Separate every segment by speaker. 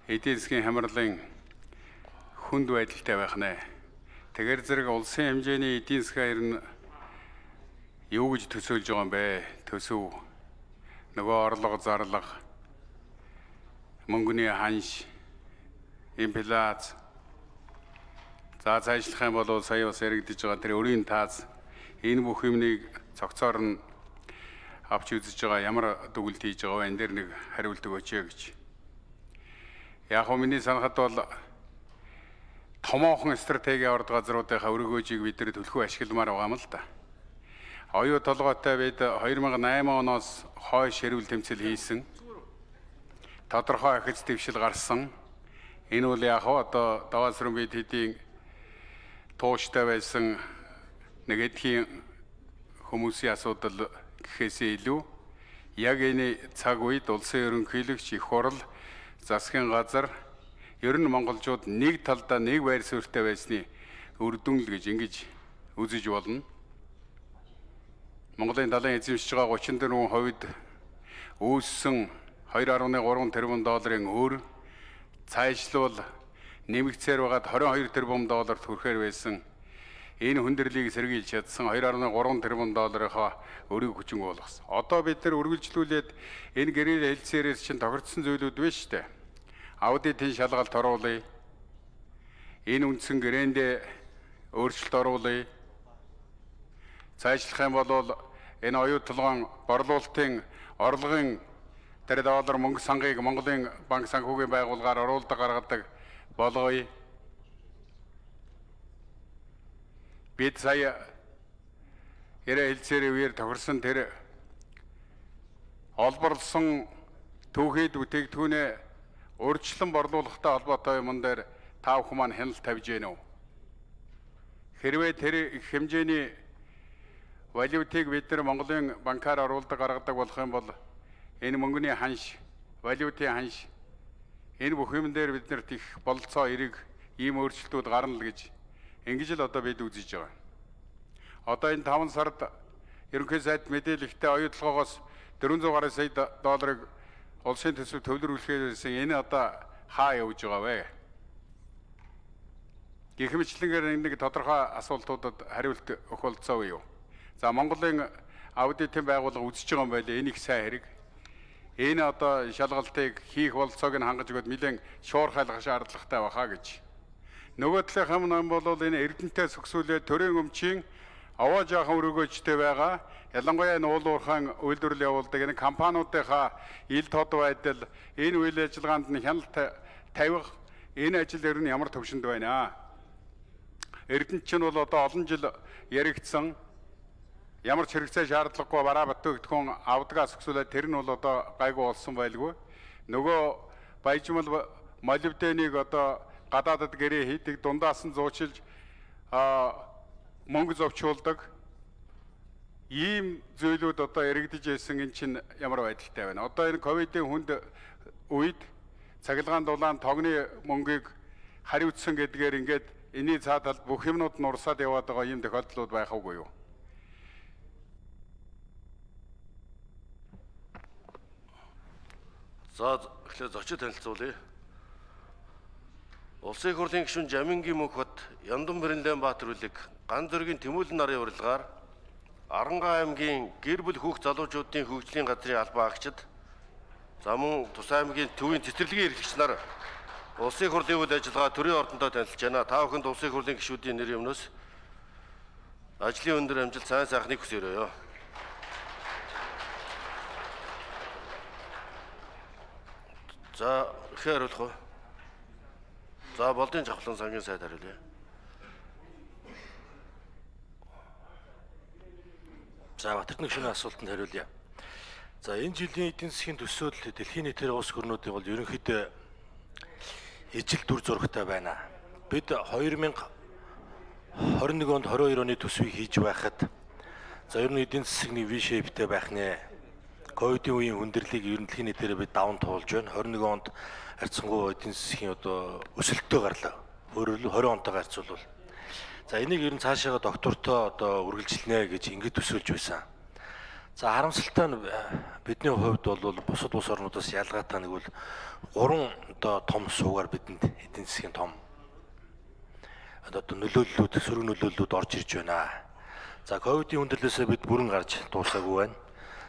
Speaker 1: эдийн засгийн хямралын хүнд байдалтай байх нэ. Тэгэр зэрэг улсын хэмжээний эдийн засгийн юу гэж төсөөлж байгаа юм бэ? Төсөв нөгөө орлого зарлага, мөнгөний ханш, инфляц. За цаашлах юм бол сая бас яригдж байгаа тэр өрийн таац энэ бүх юмныг цогцоор нь авч үзэж байгаа ямар дүгнэлт хийж байгаа вэ? Энэ дээр нэг хариулт өгөөч гэж. Яг хөө миний санахад бол томоохон стратеги орд газруудынхаа өргөөжийг бид нэр төлхөө ашигламаар байгаа юм л да. Оюу толгойтой бид 2008 оноос хойш хэрүүл тэмцэл хийсэн. Тодорхой ахиц дэвшил гарсан. Энэ үл яг одоо даваасрын бид хэдийн тууштай байсан нэг эдхийн хүмүүсийн асуудал гэхээсээ илүү яг энэ цаг үед улсын ерөнхийлөгч их хурл засгийн газар ер нь монголчууд нэг талдаа нэг байр суурьтай байсны үр дүн л гэж ингэж үзэж болно. Монголын далайн эзэмшиж байгаа 34% үүссэн 2.3 тэрбум долларын өр цаашлуул нэмэгцээр байгаад 22 тэрбум долларт хүрэхээр байсан. Энэ хүндрэлийг сэргийлж чадсан 2.3 тэрбум долларынхаа өрийг хүчин болгосон. Одоо бид нар үргэлжлүүлээд энэ гэрэл хэлцээрээс чинь тохирдсон зүйлүүд биш үү? Аудитын шалгалт оруулъя. Энэ үндсэн гэрээндээ өөрчлөлт оруулъя. Цаашлах юм бол энэ оюу толгойн борлуулалтын орлогын тэр доллар мөнгө сангийг Монголын банк санхүүгийн байгууллагаар оруулдаг гаргадаг болгоё. Бид сая ярэ хэлцээрээ үеэр тохирсон тэр олборлсон түүхэд бүтээгдэхүүнээ урьдчилан борлуулалттай холбоотой юмн дээр та бүхэн маань хяналт тавьж гэнэ үү? Хэрвээ тэр их хэмжээний валютыг бид нар Монголын банкаар оруулдаг гаргадаг болох юм бол энэ мөнгөний ханш, валютын ханш энэ бүх юм дээр биднэрт их болцоо эрэг ийм өөрчлөлтүүд гарна л гэж ингэж л одоо бид үзэж байгаа. Одоо энэ 5 сард ерөнхий сайд мэдээлэлтэй оюу толгоогоос 400 гаруй сая долларыг улсын төсөв төвлөрүүлэхээрсэн энэ одоо хаа явж байгаа вэ? Гэх мэтлэнгээр нэг тодорхой асуултуудад хариулт өгөх болцоо юу? За Монголын аудитын байгууллага үзэж байгаа юм байлээ. Энэ их сайн хэрэг. Энэ одоо шалгалтыг хийх болцоог нь хангаж өгöd нэлээд шуурхайлах шаардлагатай баха гэж. Нөгөө талынх нь бол энэ эрдэнэтэй сүксүүлээ төрийн өмчийн аваа жаахан өргөөжтэй байгаа. Ялангуяа энэ уул уурхайн үйлдвэрлэл явуулдаг энэ компаниудынхаа ил тод байдал, энэ үйл ажиллагаанд нь хяналт тавих энэ ажил ер нь ямар төвшөнд байна? Эрдэнэт чинь бол одоо олон жил яригдсан ямар ч хэрэгцээ шаардлагагүй бараа бүтээгдэхүүн авдгаас өксүүлээд тэр нь бол одоо гайгүй болсон байлгүй. Нөгөө баяжмал молибденыг одоо гадаадад гэрээ хийдэг, дундаас нь зуучилж мөнгө зовчуулдаг ийм зүйлүүд одоо яригдж ирсэн. Энэ чинь ямар байдалтай байна? Одоо энэ ковидын хүнд үед цахилгаан дулаан тогны мөнгийг хариуцсан гэдгээр ингээд энэний цаатал бүх юмнууд нь урсаад яваад байгаа ийм тохиолдлууд байх үгүй юу?
Speaker 2: За эхлээд зочид танилцуулъя. Улсын их хурлын гишүүн Жамингийн мөнх бат Яндан Бэрлэн Баатар үлэг Ган зүргийн Тэмүүлэн нарын урилгаар Арангаа аймгийн гэр бүл хүүхд залуучуудын хөгжлийн газрын албан агчид за мөн Тус аймгийн төвийн цэцэрлэгийн эрхлэгч нар улсын их хурлын үйл ажиллагаа төрийн ордондоо танилцж байна. Та бүхэнд улсын их хурлын гишүүдийн нэр юмнаас ажлын өндөр амжилт сайн сайхныг хүсээрэй. За ихээр хариулах уу? За болдын жавхлан сангийн сайд хариулъя.
Speaker 3: За Батэрдэн гишүүний асуултанд хариулъя. За энэ жилийн эдийн засгийн төсөөлөл дэлхийн нийтээр улс гүрнүүдийн бол ерөнхийдөө ижил дүр зурагтай байна. Бид 2021 онд 22 оны төсвийг хийж байхад за ер нь эдийн засгийн V-shapeтэй байх нэ. Ковидын үеийн хүндрэлийг ер нь дэлхийн нийтээр бид даван туулж байна. 21 онд харьцангуй эдийн засгийн одоо өсөлттэй гарлаа. Өөрөөр 20 онтойгоо харьцуулбал. За энийг ер нь цаашаага доктортой одоо үргэлжлэнэ гэж ингэж төсөөлж байсан. За харамсалтай нь бидний хувьд бол бусад улс орнуудаас ялгаатай нэг бол 3 одоо том суугаар бидэнд эдийн засгийн том одоо нөлөөллүүд, сөрөг нөлөөллүүд орж ирж байна. За ковидын хүндрэлээсээ бид бүрэн гарч дуусаагүй байна.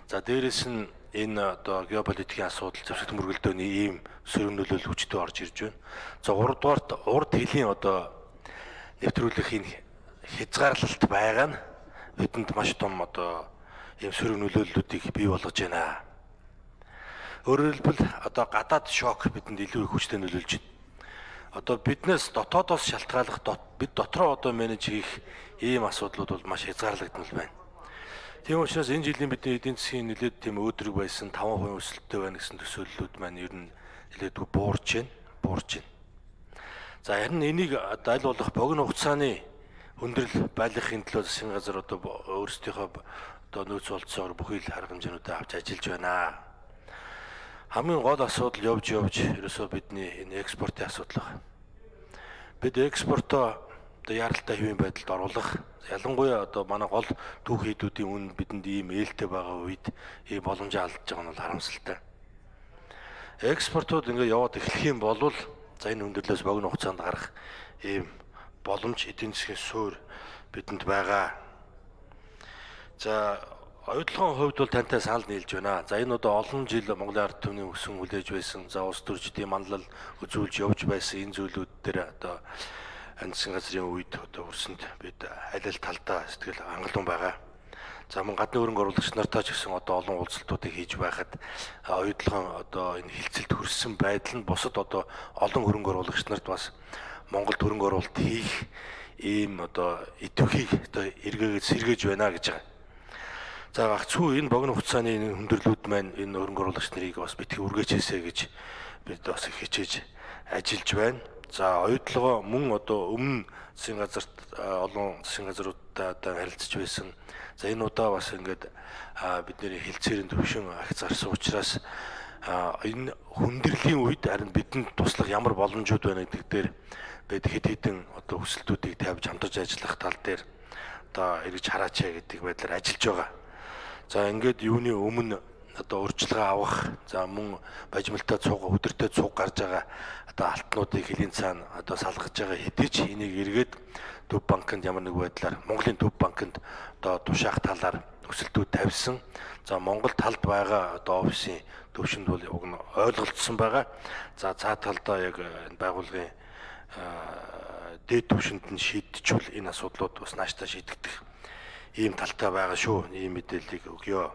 Speaker 3: За дээрэс нь энэ одоо геополитикийн асуудал, зэвсэг мөргөлдөөний ийм сөрөг нөлөөлөл хүчтэй орж ирж байна. За 3 дугаарт урд хилийн одоо нэвтрүүлэхийн хязгаарлалт байгаа нь бидэнд маш том одоо ийм сөрөг нөлөөллүүдийг бий болгож байна. Өөрөөр хэлбэл одоо гадаад шок бидэнд илүү их хүчтэй нөлөөлж байна. Одоо биднээс дотоодоос шалтгааллах бид дотроо одоо менеж хийх ийм асуудлууд бол маш хязгаарлагдмал байна. Тийм учраас энэ жилийн бидний эдийн засгийн нэлээд тийм өөдрөг байсан 5% өсөлттэй байна гэсэн төсөөллүүд маань ер нь нэлээд буурж байна. За харин энийг аль болох богино хугацааны хүндрэл байлгахын төлөө засгийн газар одоо өөрсдийнхөө одоо нөөц болцоогоор бүхий л арга хэмжээнүүдээ авч ажиллаж байна. Хамгийн гол асуудал явж ерөөсөө бидний энэ экспортын асуудал байна. Бид экспортоо одоо яралтай хэвийн байдалд оруулах, ялангуяа одоо манай гол түүх хийдүүдийн үн бидэнд ийм ээлтэй байгаа үед ийм боломжоо алдж байгаа нь бол харамсалтай. Экспортууд ингээд яваад эхлэх юм бол за энэ хүндрэлээс богино хугацаанд гарах ийм боломж эдийн засгийн суурь бидэнд байгаа. За оюутлогын хувьд бол тантай санал нийлж байна. За энэ одоо олон жил Монголын ард түмний өсөн хүлээж байсан, за улс төрчдийн манлал үзүүлж явж байсан энэ зүйлүүд дээр одоо засгийн газрын үед одоо өрсөнд бид аль аль талдаа сэтгэл хангалуун байгаа. За мөн гадны хөрөнгө оруулагч нартай ч гэсэн одоо олон уулзалтуудыг хийж байхад оюутлогын одоо энэ хилцэлд хүрсэн байдал нь бусад одоо олон хөрөнгө оруулагч нарт бас Монголд хөрөнгө оруулалт хийх ийм одоо идэвхийг одоо эргээгээд сэргээж байна гэж байгаа. За гагцхүү энэ богино хугацааны хүндрэлүүд маань энэ хөрөнгө оруулагч нарыг бас битгий үргээчээсэй гэж бид бас их хичээж ажиллаж байна. За оюутлогоо мөн одоо өмнө засгийн газарт олон засгийн газруудтай одоо харилцаж байсан. За энэ удаа бас ингээд бидний хилцээрийн төвшин агц гарсан учраас энэ хүндрлийн үед харин бидэнд туслах ямар боломжууд байна гэдэг дээр бид хэд хэдэн одоо хүсэлтүүдийг тавьж хамтарч ажиллах тал дээр одоо эргэж хараачаа гэдэг байдлаар ажиллаж байгаа. За ингээд юуны өмнө одоо урьдчилгаа авах, за мөн бажималтай цуг, өдөртэй цуг гарч байгаа одоо алтнуудыг хэлийн цаана одоо салгаж байгаа хэдий ч энийг эргээд Төв банкнд ямар нэг байдлаар Монголын Төв банкнд одоо тушаах талаар өсөлтүүд тавьсан. За Монгол талд байгаа одоо офисын төвшөнд бол уг нь ойлголцсон байгаа. За цаа талдаа яг байгууллагын дээд төвшөнд нь шийдчихвэл энэ асуудлууд бас нааштай шийдэгдэх ийм талтай байгаа шүү. Ийм мэдээллийг өгье.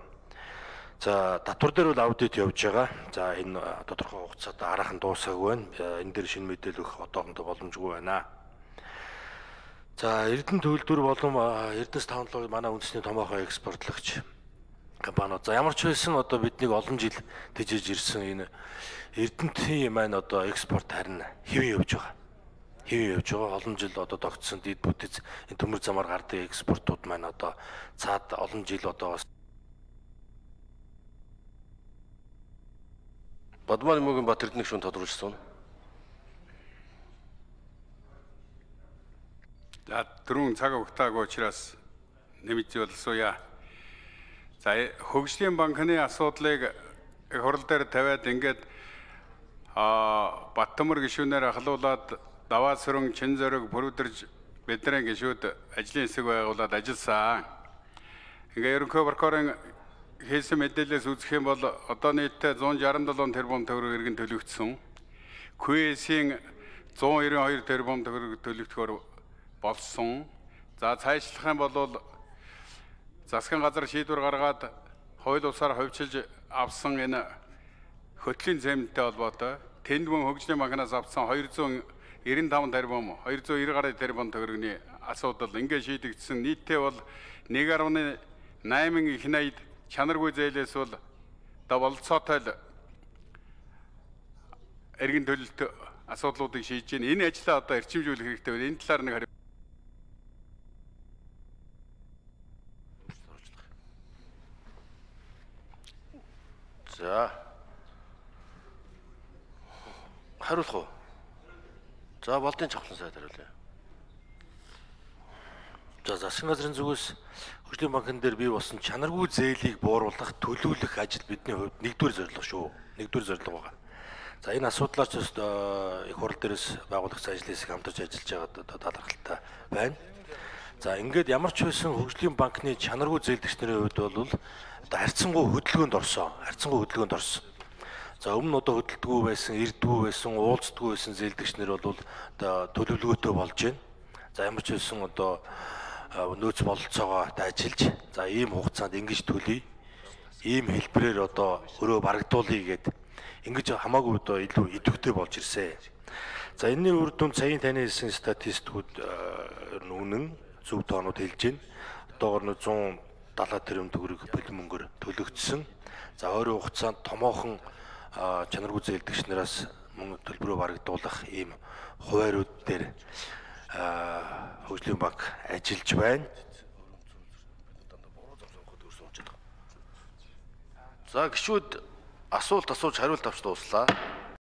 Speaker 3: За татвар дээр бол аудит явж байгаа. За энэ тодорхой хугацаанд араахан дуусаагүй байна. Энэ дээр шинэ мэдээлэл өгөх одоохондоо боломжгүй байна. За Эрдэнэ төлөвлөр болон Эрдэнэс технологи манай үндэсний томоохон экспортлагч компаниуд. За ямар ч байсан одоо биднийг олон жил тэжээж ирсэн энэ Эрдэнэтийн маань одоо экспорт харин хэвэн явж байгаа. Хэвэн явж байгаа. Олон жил одоо тогтсон дид бүтэц энэ төмөр замаар гардаг экспортууд маань одоо цаад олон жил одоо бас
Speaker 2: Бадмаар мөгийн Бат Эрдэнэ гүшүүн тодруулсан.
Speaker 1: За түрүүн цаг өгтаагүй учраас нэмж болсоя. За хөгжлийн банкны асуудлыг хурал дээр тавиад ингээд Баттөмөр гишүүнээр ахлуулад даваа сүрэн чин зориг бүрдэрж бидний гишүүд ажлын хэсэг байгуулад ажилласан. Ингээ ерөнхий прокурорын хийсэн мэдээлэлээс үзэх юм бол одоо нийтдээ 167 тэрбум төгрөг иргэн төлөгдсөн. QS-ийн 192 тэрбум төгрөг төлөгдөхөөр болсон. За цаашлах юм бол засгийн газар шийдвэр гаргаад хууль бусаар ховчилж авсан энэ хөтлийн зэмнэлтэй холбоотой тэнд мөн хөгжлийн банкнаас авсан 295 тэрбум 290 гаруй тэрбум төгрөгийн асуудал ингээд шийдэгдсэн. Нийтдээ бол 1.8 их найд чанаргүй зээлээс бол одоо болцоотой л эргэн төлөлт асуудлуудыг шийдэж байна. Энэ ажлаа одоо эрчимжүүлэх хэрэгтэй байна. Энэ талаар нэг хариу.
Speaker 2: За хариулах уу? За болдын чавхлан сайд хариулъя.
Speaker 3: За засгийн газрын зүгээс хөгжлийн банкн дээр бий болсон чанаргүй зээлийг бууруулах, төлөвлөх ажил бидний хувьд нэгдүгээр зорилго шүү. Нэгдүгээр зорилго байгаа. За энэ асуудлаар ч их хурл дээрээс байгуулагч ажлын хэсэг хамтарч ажиллаж байгаа талархалтай байна. За ингээд ямар ч байсан хөгжлийн банкны чанаргүй зээлдэгчнэрийн хувьд бол одоо харьцангуй хөдөлгөөнд орсон. За өмнө нь одоо хөдөлдөггүй байсан, ирдэггүй байсан, уулздаггүй байсан зээлдэгчнэр бол одоо төлөвлөгөөтэй болж байна. За ямар ч байсан одоо нөөц бололцоогоо ажиллаж, за ийм хугацаанд ингэж төлөе. Ийм хэлбэрээр одоо өрөө барагдуулъя гэд ингэж хамаагүй одоо илүү идэвхтэй болж ирсэн. За энэний үр дүн саяын таны хэлсэн статистикүүд үнэн зөв тоонууд хэлж байна. Одоогор нь 170 тэрбум төгрөг бэлэн мөнгөөр төлөгдсөн. За ойрын хугацаанд томоохон чанаргүй зээлдэгч нараас мөнгө төлбөрөө барагдуулах ийм хуваарьуд дээр хөгжлийн банк ажиллаж байна.
Speaker 2: За гишүүд асуулт асууж хариулт авч дууслаа.